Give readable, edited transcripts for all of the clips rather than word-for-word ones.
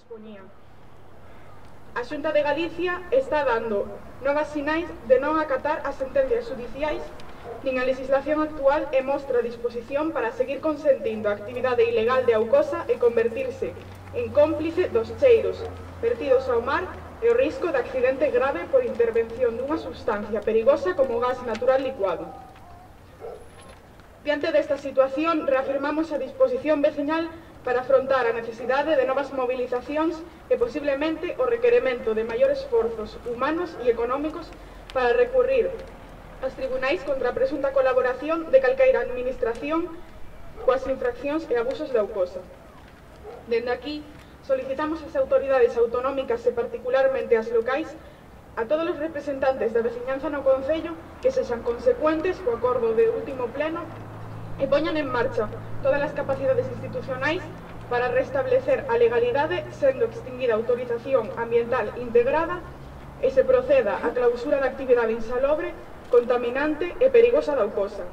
dispoñía. A Xunta de Galicia está dando novas sinais de non acatar as sentencias judiciais nin a legislación actual e mostra disposición para seguir consentindo a actividade ilegal de Aucosa e convertirse en cómplice dos cheiros vertidos ao mar e o risco de accidente grave por intervención dunha substancia perigosa como o gas natural licuado. Diante desta situación, reafirmamos a disposición veciñal para afrontar a necesidade de novas movilizacións e posiblemente o requerimento de maiores esforzos humanos e económicos para recurrir aos tribunais contra a presunta colaboración de calqueira administración coas infraccións e abusos de Aucosa. Dende aquí, solicitamos ás autoridades autonómicas e particularmente ás locais, a todos os representantes da veciñanza no Concello que sexan consecuentes co acordo de último pleno e poñan en marcha todas as capacidades institucionais para restablecer a legalidade sendo extinguida a autorización ambiental integrada e se proceda á clausura da actividade insalobre, contaminante e perigosa da Aucosa.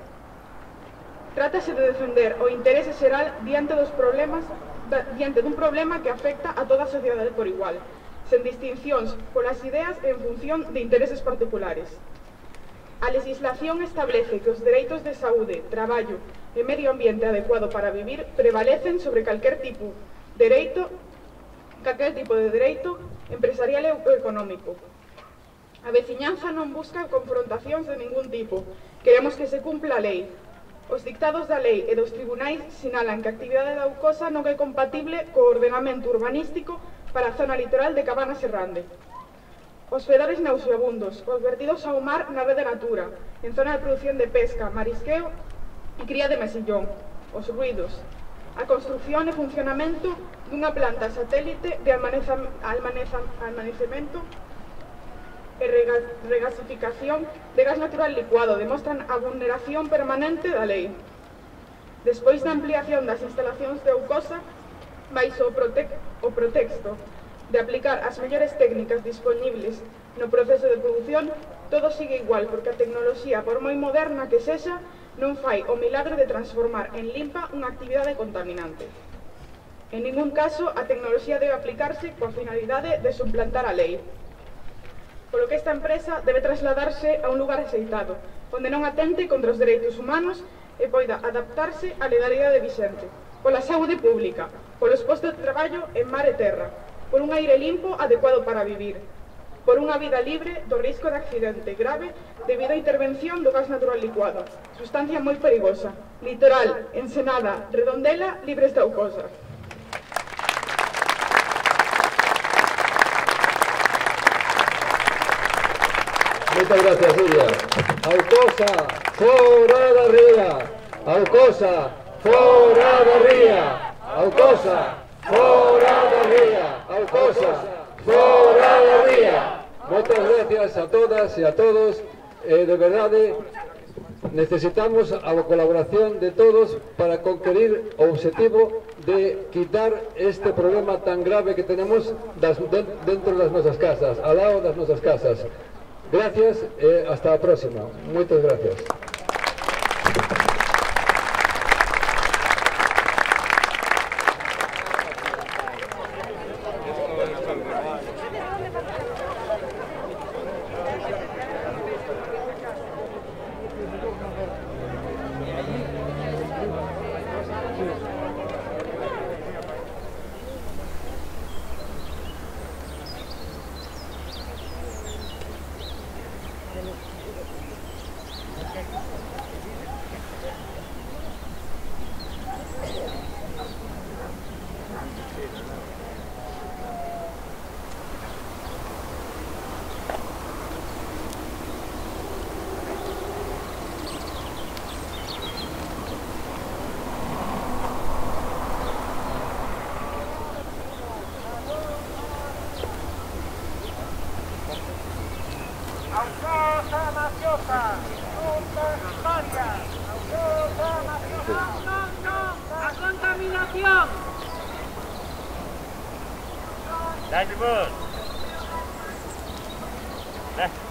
Trátase de defender o interese xeral diante dun problema que afecta a toda a sociedade por igual, sen distincións polas ideas e en función de intereses particulares. A legislación establece que os dereitos de saúde, traballo e medio ambiente adecuado para vivir prevalecen sobre calquer tipo de dereito empresarial e económico. A veciñanza non busca confrontacións de ningún tipo. Queremos que se cumpla a lei. Os dictados da lei e dos tribunais sinalan que a actividade da Aucosa non é compatible co ordenamento urbanístico para a zona litoral de Cabanas e Rande. Os fedores nauseabundos, os vertidos ao mar na rede Natura, en zona de produción de pesca, marisqueo e cría de mesillón, os ruidos, a construción e funcionamento dunha planta satélite de almacenamento e regasificación de gas natural licuado demostran a vulneración permanente da lei. Despois da ampliación das instalacións de Aucosa, baixo o pretexto de aplicar as mellores técnicas disponibles no proceso de produción, todo sigue igual, porque a tecnoloxía, por moi moderna que sexa, non fai o milagre de transformar en limpa unha actividade contaminante. En ningún caso, a tecnoloxía debe aplicarse coa finalidade de suplantar a lei. Polo que esta empresa debe trasladarse a un lugar axeitado, onde non atente contra os dereitos humanos e poida adaptarse á legalidade vixente, pola saúde pública, polos postos de traballo en mar e terra, por un aire limpo adecuado para vivir, por unha vida libre do risco de accidente grave debido á intervención do gas natural licuado, sustancia moi perigosa, litoral, Ensenada, Redondela, libres de Aucosa. Moitas gracias, Iria. Aucosa, fora da ría. Aucosa, fora da ría. Aucosa, fora da ría. Aucosa, fora da ría. Moitas gracias a todas e a todos. De verdade, necesitamos a colaboración de todos para conquerir o objetivo de quitar este problema tan grave que tenemos dentro das nosas casas, ao lado das nosas casas. Gracias e hasta a próxima. Moitas gracias. Aucosa mafiosa, nunca historia. Aucosa mafiosa, la contaminación. Dale, vos. Dale.